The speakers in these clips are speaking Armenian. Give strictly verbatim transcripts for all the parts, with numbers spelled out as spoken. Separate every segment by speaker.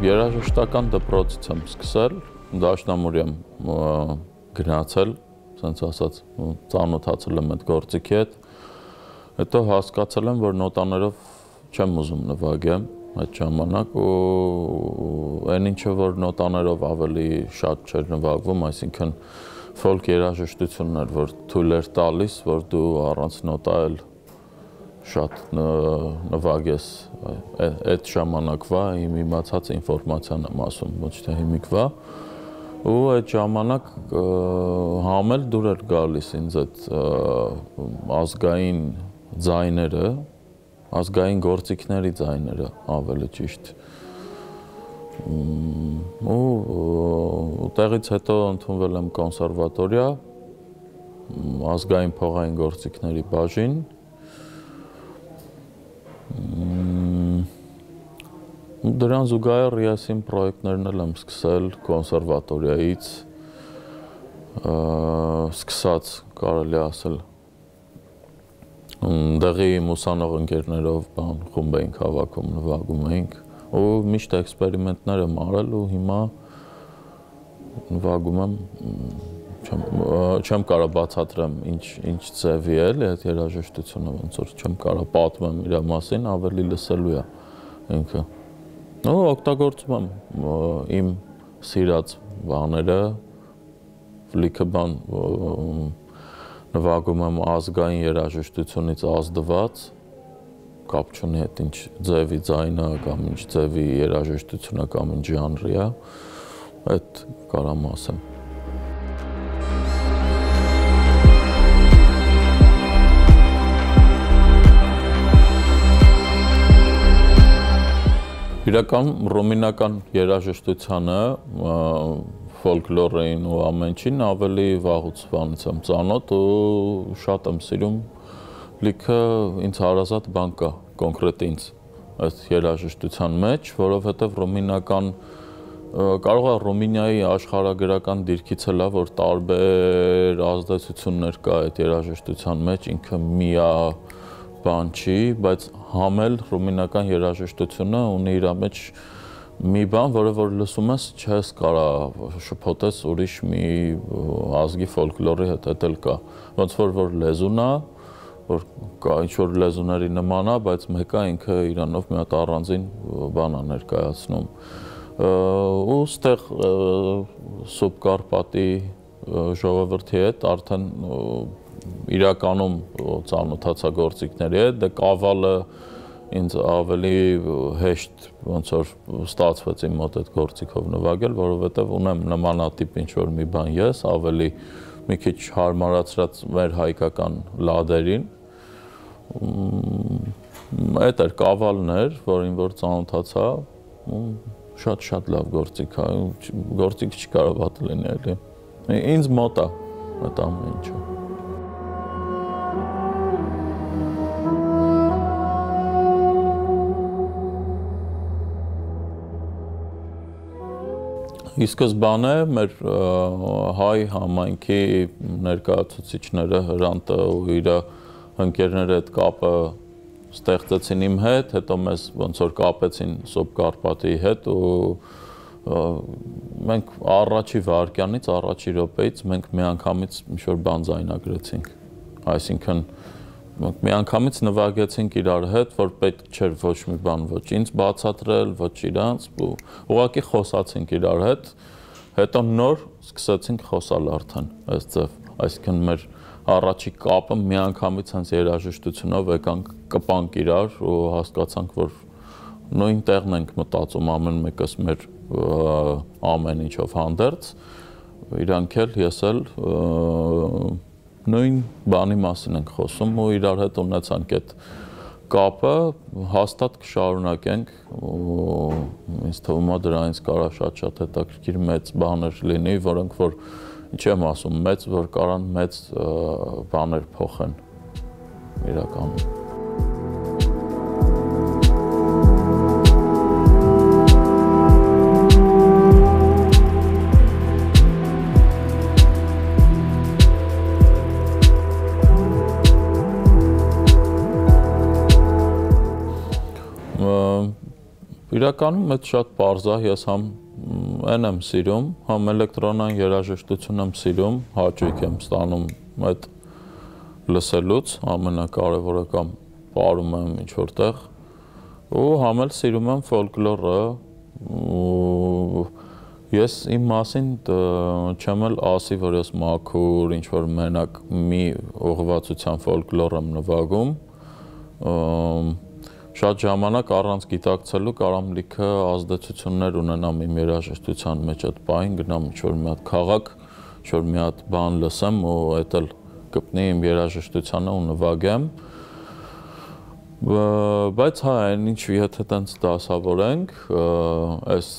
Speaker 1: Երաժշտական դպրոցից եմ սկսել, դաշնամուր եմ գնացել, ասենց ասած, ծանոթացել եմ այդ գործիքի հետ, հետո հասկացել եմ, որ նոտաներով չեմ ուզում նվագեմ այդ ժամանակ ու այն ինչը որ նոտաներով ավելի շատ չէր նվագվում, այսինքն ֆոլք երաժշտությունն էր, որ թույլ էր տալիս, որ դու առանց նոտա էլ շատ նվագես այդ ժամանակվա իմ իմացած ինֆորմացիան եմ ասում, ոչ թե հիմիկվա ու այդ ժամանակ համ էլ դուր էր գալիս ինձ այդ ազգային ձայները, ազգային գործիքների ձայները ավելի ճիշտ ու տեղից հետո ընդունվել եմ կոնսերվատորիա, ազգային փողային գործիքների բաժին Դրան զուգահեռ ես իմ պրոյեկտներն էլ եմ սկսել կոնսերվատորիայից, սկսած կարելի ասել, դեղի ուսանող ընկերներով խումբ էինք հավաքում, նվագում էինք ու միշտ էքսպերիմենտներ եմ արել ու հիմա նվագում եմ, չեմ կարող բացատրեմ ինչ ձևի է այդ երաժշտությունը, ոնց որ չեմ կարող պատմեմ իր մասին, ավելի լսելու է ինքը։ Ու օգտագործում եմ իմ սիրած բաները, լիքը բան նվագում եմ ազգային երաժշտությունից ազդված, կապ չունի հետ ինչ ձևի ձայնը կամ ինչ ձևի երաժշտությունը կամ ինչ ժանրի է, այդ կարամ ասեմ։ Իրականում ռումինական երաժշտությանը, ֆոլկլորին ու ամեն ինչին ավելի վաղուց բանից եմ ծանոթ ու շատ եմ սիրում, լիքը ինձ հարազատ բան կա, կոնկրետ ինձ այդ երաժշտության մեջ, որովհետև ռումինական, կարող է Ռումինիայի աշխարհագրական դիրքից էլ է, որ տարբեր ազդեցություններ կա այդ երաժշտության մեջ, ինքը միա բան չի, բայց համ էլ ռումինական երաժշտությունը ունի իր մեջ մի բան, որը որ լսում ես, չես կարող շփոթես ուրիշ մի ազգի ֆոլկլորի հետ, դա էլ կա։ Ոնց որ որ լեզուն է, որ կա ինչ-որ լեզուների նման է, բայց մեկը ինքը իրանով մի հատ առանձին բան է ներկայացնում։ Ու ստեղ Սուբկարպատի ժողովրդի հետ արդեն իրականում ծանոթացա գործիքների հետ, դե կավալը ինձ ավելի հեշտ ոնց որ ստացվեց իմ մոտ այդ գործիքով նվագել, որովհետև ունեմ նմանատիպ ինչ-որ մի բան ես, ավելի մի քիչ հարմարացրած մեր հայկական լադերին, այդ էր կավալն էր, որին որ ծանոթացա, շատ-շատ լավ գործիք է, գործիք չկարող վատ լինի էլի, ինձ մոտ է այդ ամեն ինչը։ Ի սկզբանե մեր հայ համայնքի ներկայացուցիչները Հրանտը ու իր ընկերները այդ կապը ստեղծեցին իմ հետ, հետո մեզ ոնց որ կապեցին Սուբկարպատի հետ ու մենք առաջի վայրկյանից, առաջի րոպեից մենք միանգամից ինչ-որ բան ձայնագրեցինք, այսինքն մենք միանգամից նվագեցինք իրար հետ, որ պետք չէր ոչ մի բան, ոչ ինձ բացատրել, ոչ իրանց, ուղղակի խոսացինք իրար հետ, հետո նոր սկսեցինք խոսալ արդեն, այս ձև, այսինքն մեր առաջի կապը միանգամից հենց երաժշտությունով եկանք կպանք իրար ու հասկացանք, որ նույն տեղն ենք մտածում ամեն մեկս մեր ամեն ինչով հանդերձ, իրանք էլ, ես էլ նույն բանի մասին ենք խոսում ու իրար հետ ունեցանք այդ կապը, հաստատ կշարունակենք ու ինձ թվում է դրանից կարա շատ-շատ հետաքրքիր մեծ բաներ լինի, որոնք որ ինչ եմ ասում, մեծ, որ կարան մեծ բաներ փոխեն իրականում։ Իրականում այդ շատ պարզ է, ես համ այն եմ սիրում, համ էլեկտրոնային երաժշտություն եմ սիրում, հաճույք եմ ստանում այդ լսելուց, ամենակարևորը կամ պարում եմ ինչ-որտեղ, ու համ էլ սիրում եմ ֆոլկլորը, ես իմ մասին չեմ էլ ասի, որ ես մաքուր, ինչ-որ մենակ մի ուղղվածության ֆոլկլոր եմ նվագում, շատ ժամանակ առանց գիտակցելու կարամ լիքը ազդեցություններ ունենամ իմ երաժշտության մեջ այդ պահին, գնամ ինչ-որ մի հատ քաղաք, ինչ-որ մի հատ բան լսեմ ու այդ էլ կպնի իմ երաժշտությանը ու նվագեմ, բայց հա, այն ինչ եթե տենց դասավորենք, այս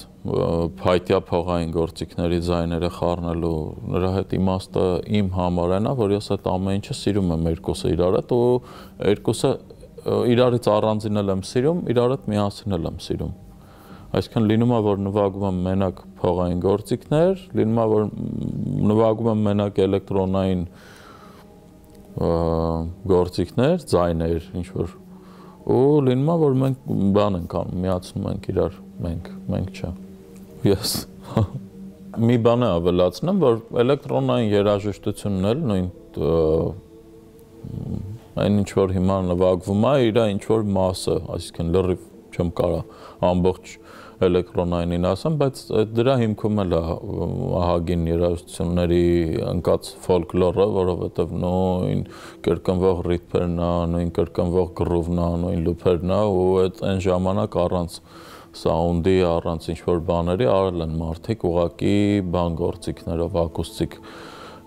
Speaker 1: փայտյա փողային գործիքների ձայները խառնելու նրա հետ իմաստը իմ համար այն է, որ ես այդ ամեն ինչը սիրում եմ երկուսը իրար հետ ու երկուսը իրարից առանձին էլ եմ սիրում, իրար հետ միասին էլ եմ սիրում։ Այսինքն լինում է, որ նվագում եմ մենակ փողային գործիքներ, լինում է, որ նվագում եմ մենակ էլեկտրոնային գործիքներ, ձայներ, ինչ-որ ու լինում է, որ մենք բան ենք անում, միացնում ենք իրար, մենք, մենք չէ։ Ես մի բան է ավելացնեմ, որ էլեկտրոնային երաժշտությունն էլ նույն այն ինչ որ հիմա նվագվում է, իր ինչ որ մասը, այսինքն լրիվ չեմ կարա ամբողջ էլեկտրոնայինին ասեմ, բայց դրա հիմքում էլ է ահագին երաժշտությունների ընկած ֆոլկլորը, որովհետև նույն կրկնվող ռիթմերն է, նույն կրկնվող գրուվն է, նույն լուփերն է ու այդ այն ժամանակ առանց սաունդի, առանց ինչ որ բաների արել են մարդիկ ուղակի բան գործիքներով ակուստիկ։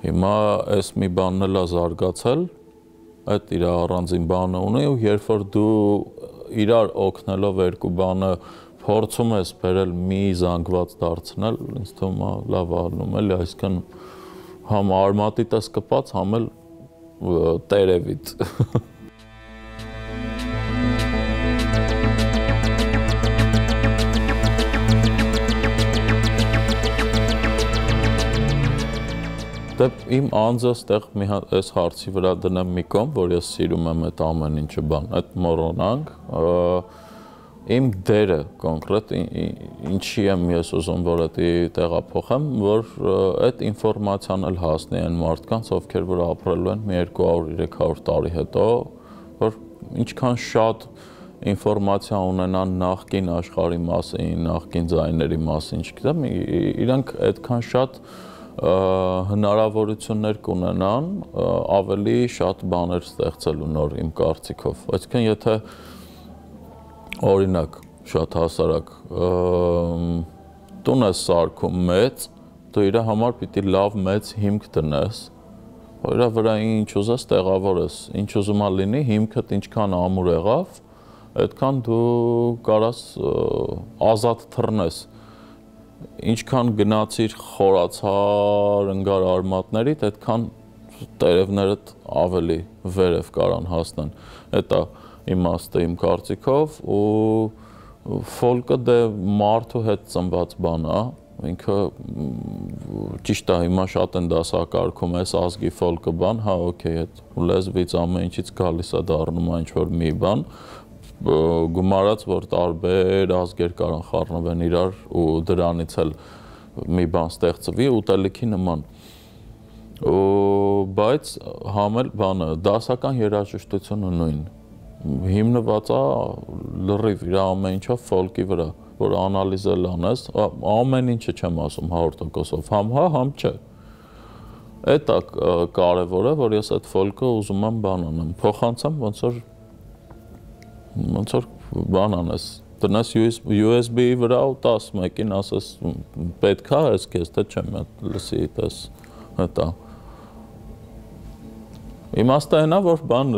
Speaker 1: Հիմա այս մի բանն էլ է զարգացել, այդ իր առանձին բանը ունի ու երբ որ դու իրար օգնելով երկու բանը փորձում ես բերել մի զանգված դարձնել, ինձ թվում է լավ ալնում էլի, այսինքն համ արմատիտ ես կպած, համ էլ տերևիտ։ Իմ անձը ստեղ այս հարցի վրա դնեմ մի կողմ, որ ես սիրում եմ այդ ամեն ինչը բան, այդ մոռանանք, իմ դերը կոնկրետ ինչի եմ ես ուզում, որ դա տեղափոխեմ, որ այդ ինֆորմացիան էլ հասնի այն մարդկանց, ովքեր որ ապրելու են մի երկու հարյուր երեք հարյուր տարի հետո, որ ինչքան շատ ինֆորմացիա ունենան նախկին աշխարհի մասին, նախկին ձայների մասին, չգիտեմ, իրանք այդքան շատ հնարավորություններ կունենան ավելի շատ բաներ ստեղծելու նոր իմ կարծիքով։ Այսինքն եթե օրինակ շատ հասարակ տուն ես սարքում մեծ, դու իր համար պիտի լավ մեծ հիմք դնես, իր վրա ինչ ուզես տեղավորես, ինչ ուզում ա լինի, հիմքդ ինչքան ամուր եղավ, այդքան դու կարաս ազատ թռնես։ Ինչքան գնացիր խորացար ընկար արմատներիդ, այդքան տերևներդ ավելի վերև կարան հասնեն։ Դա իմաստը իմ կարծիքով ու ֆոլկը դե մարդու հետ ծնված բան է, ինքը ճիշտ է, հիմա շատ են դասակարգում այս ազգի ֆոլկը բան, հա օքեյ, այդ լեզվից ամեն ինչից գալիս է դառնում ինչ որ մի բան, գումարած, որ տարբեր ազգեր կարան խառնվեն իրար ու դրանից էլ մի բան ստեղծվի ուտելիքի նման։ Բայց համ էլ բանը, դասական երաժշտությունը նույն, հիմնված է լրիվ իր ամեն ինչով ֆոլկի վրա, որ անալիզել անես, ամեն ինչը չեմ ասում հարյուր տոկոսով, համ հա, համ չէ։ Այդ է կարևորը, որ ես այդ ֆոլկը ուզում եմ բան անեմ, փոխանցեմ ոնց որ ոնց որ բան անես, դնես յու էս բի-ի վրա ու տաս մեկին ասես պետք է այս քեզ, թե չեմ լսի տես, հետա։ Իմաստը այն է, որ բան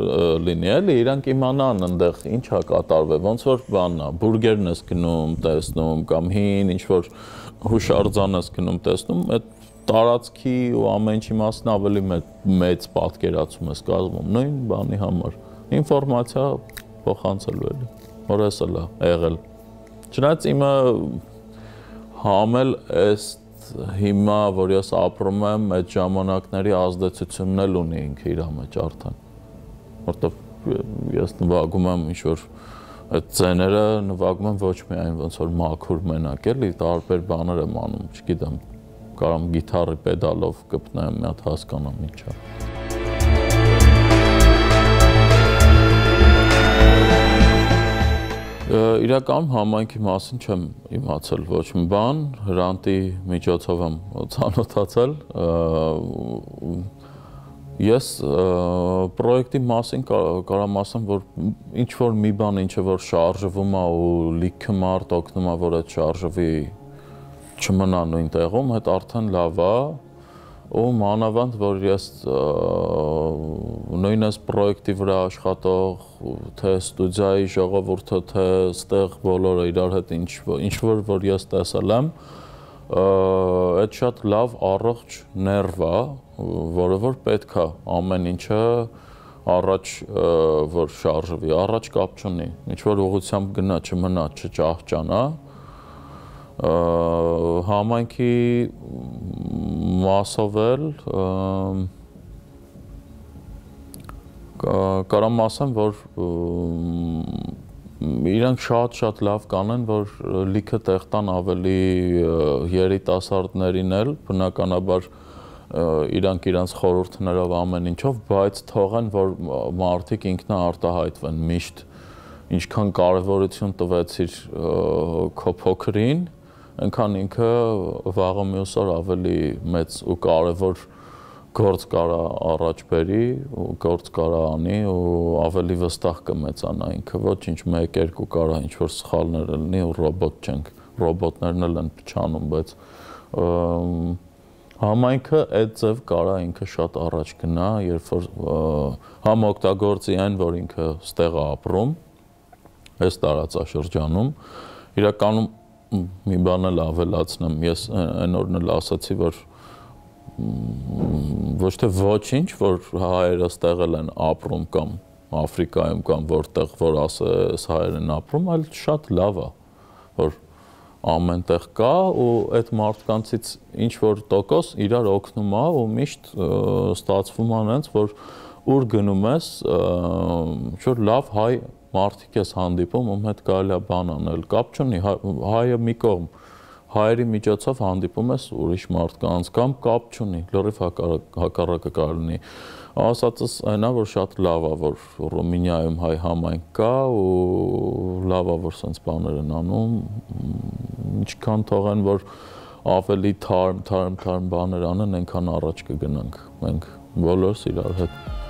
Speaker 1: լինի էլի, իրանք իմանան ընդեղ ինչ է կատարվել, ոնց որ բանն է, բուրգերն ես գնում, տեսնում, կամ հին ինչ որ հուշարձան ես գնում, տեսնում, այդ տարածքի ու ամեն ինչի մասն ավելի մեծ պատկերացում ես կազմում, նույն բանի համար, ինֆորմացիա փոխանցելու էլի, որ ես էլ է եղել։ Չնայած իմը համել այս հիմա, որ ես ապրում եմ, այդ ժամանակների ազդեցությունն էլ ունի ինքը իր մեջ արդեն, որտեղ ես նվագում եմ ինչ-որ այդ ձեները նվագում են ոչ միայն ոնց որ մաքուր մենակ էլի, տարբեր բաներ եմ անում, չգիտեմ, կարամ գիտարի պեդալով կպնեմ, մի հատ հասկանամ ինչ է։ Իրականում համայնքի մասին չեմ իմացել ոչ մի բան, Հրանտի միջոցով եմ ծանոթացել, ես պրոյեկտի մասին կարամ ասեմ, որ ինչ-որ մի բան, ինչը որ շարժվում է ու լիքը մարդ օգնում է, որ այդ շարժվի չմնա նույն տեղում, այդ արդեն լավ է, ու մանավանդ, որ ես նույնս պրոյեկտի վրա աշխատող, թե ստուդիայի ժողովուրդը, թե ստեղ բոլորը իրար հետ ինչ-որ, որ ես տեսել եմ, այդ շատ լավ առողջ ներվ է, որը որ պետք է ամեն ինչը առաջ որ շարժվի, առաջ կապ չունի, ինչ-որ ուղղությամբ գնա, չմնա, չճահճանա, համայնքի մասով էլ կարամ ասեմ, որ իրանք շատ-շատ լավ կանեն, որ լիքը տեղ տան ավելի երիտասարդներին էլ, բնականաբար իրանք իրանց խորհուրդներով ամեն ինչով, բայց թողեն, որ մարդիկ ինքնաարտահայտվեն միշտ, ինչքան կարևորություն տվեցիր քո փոքրին, այնքան ինքը վաղը մյուս օր ավելի մեծ ու կարևոր գործ կարա առաջ բերի, գործ կարա անի ու ավելի վստահ կմեծանա ինքը, ոչինչ մեկ երկու կարա ինչ-որ սխալներ լինի ու ռոբոտ չենք, ռոբոտներն էլ են փչանում, բայց համայնքը այդ ձև կարա ինքը շատ առաջ գնա, երբ որ համ օգտագործի այն, որ ինքը ստեղ է ապրում, այս տարածաշրջանում, իրականում մի բան էլ ավելացնեմ, ես այն օրն էլ ասացի, որ ոչ թե ոչինչ, որ հայերը ստեղել են ապրում կամ Աֆրիկայում կամ որտեղ, որ ասես հայեր են ապրում, այլ շատ լավ է, որ ամեն տեղ կա ու այդ մարդկանցից ինչ-որ տոկոս իրար օգնում է ու միշտ ստացվում է այնց, որ ուր գնում ես, ինչ-որ լավ հայ մարդիկ ես հանդիպում, ում հետ կարելի է բան անել, կապ չունի, հայը մի կողմ, հայերի միջոցով հանդիպում ես ուրիշ մարդկանց կամ կապ չունի, լրիվ հակառակը կարող լինի։ Ասածս այն է, որ շատ լավ է, որ Ռումինիայում հայ համայնք կա ու լավ է, որ սենց բաներ են անում, ինչքան թողեն, որ ավելի թարմ, թարմ, թարմ բաներ անեն, այնքան առաջ կգնանք մենք բոլորս իրար հետ։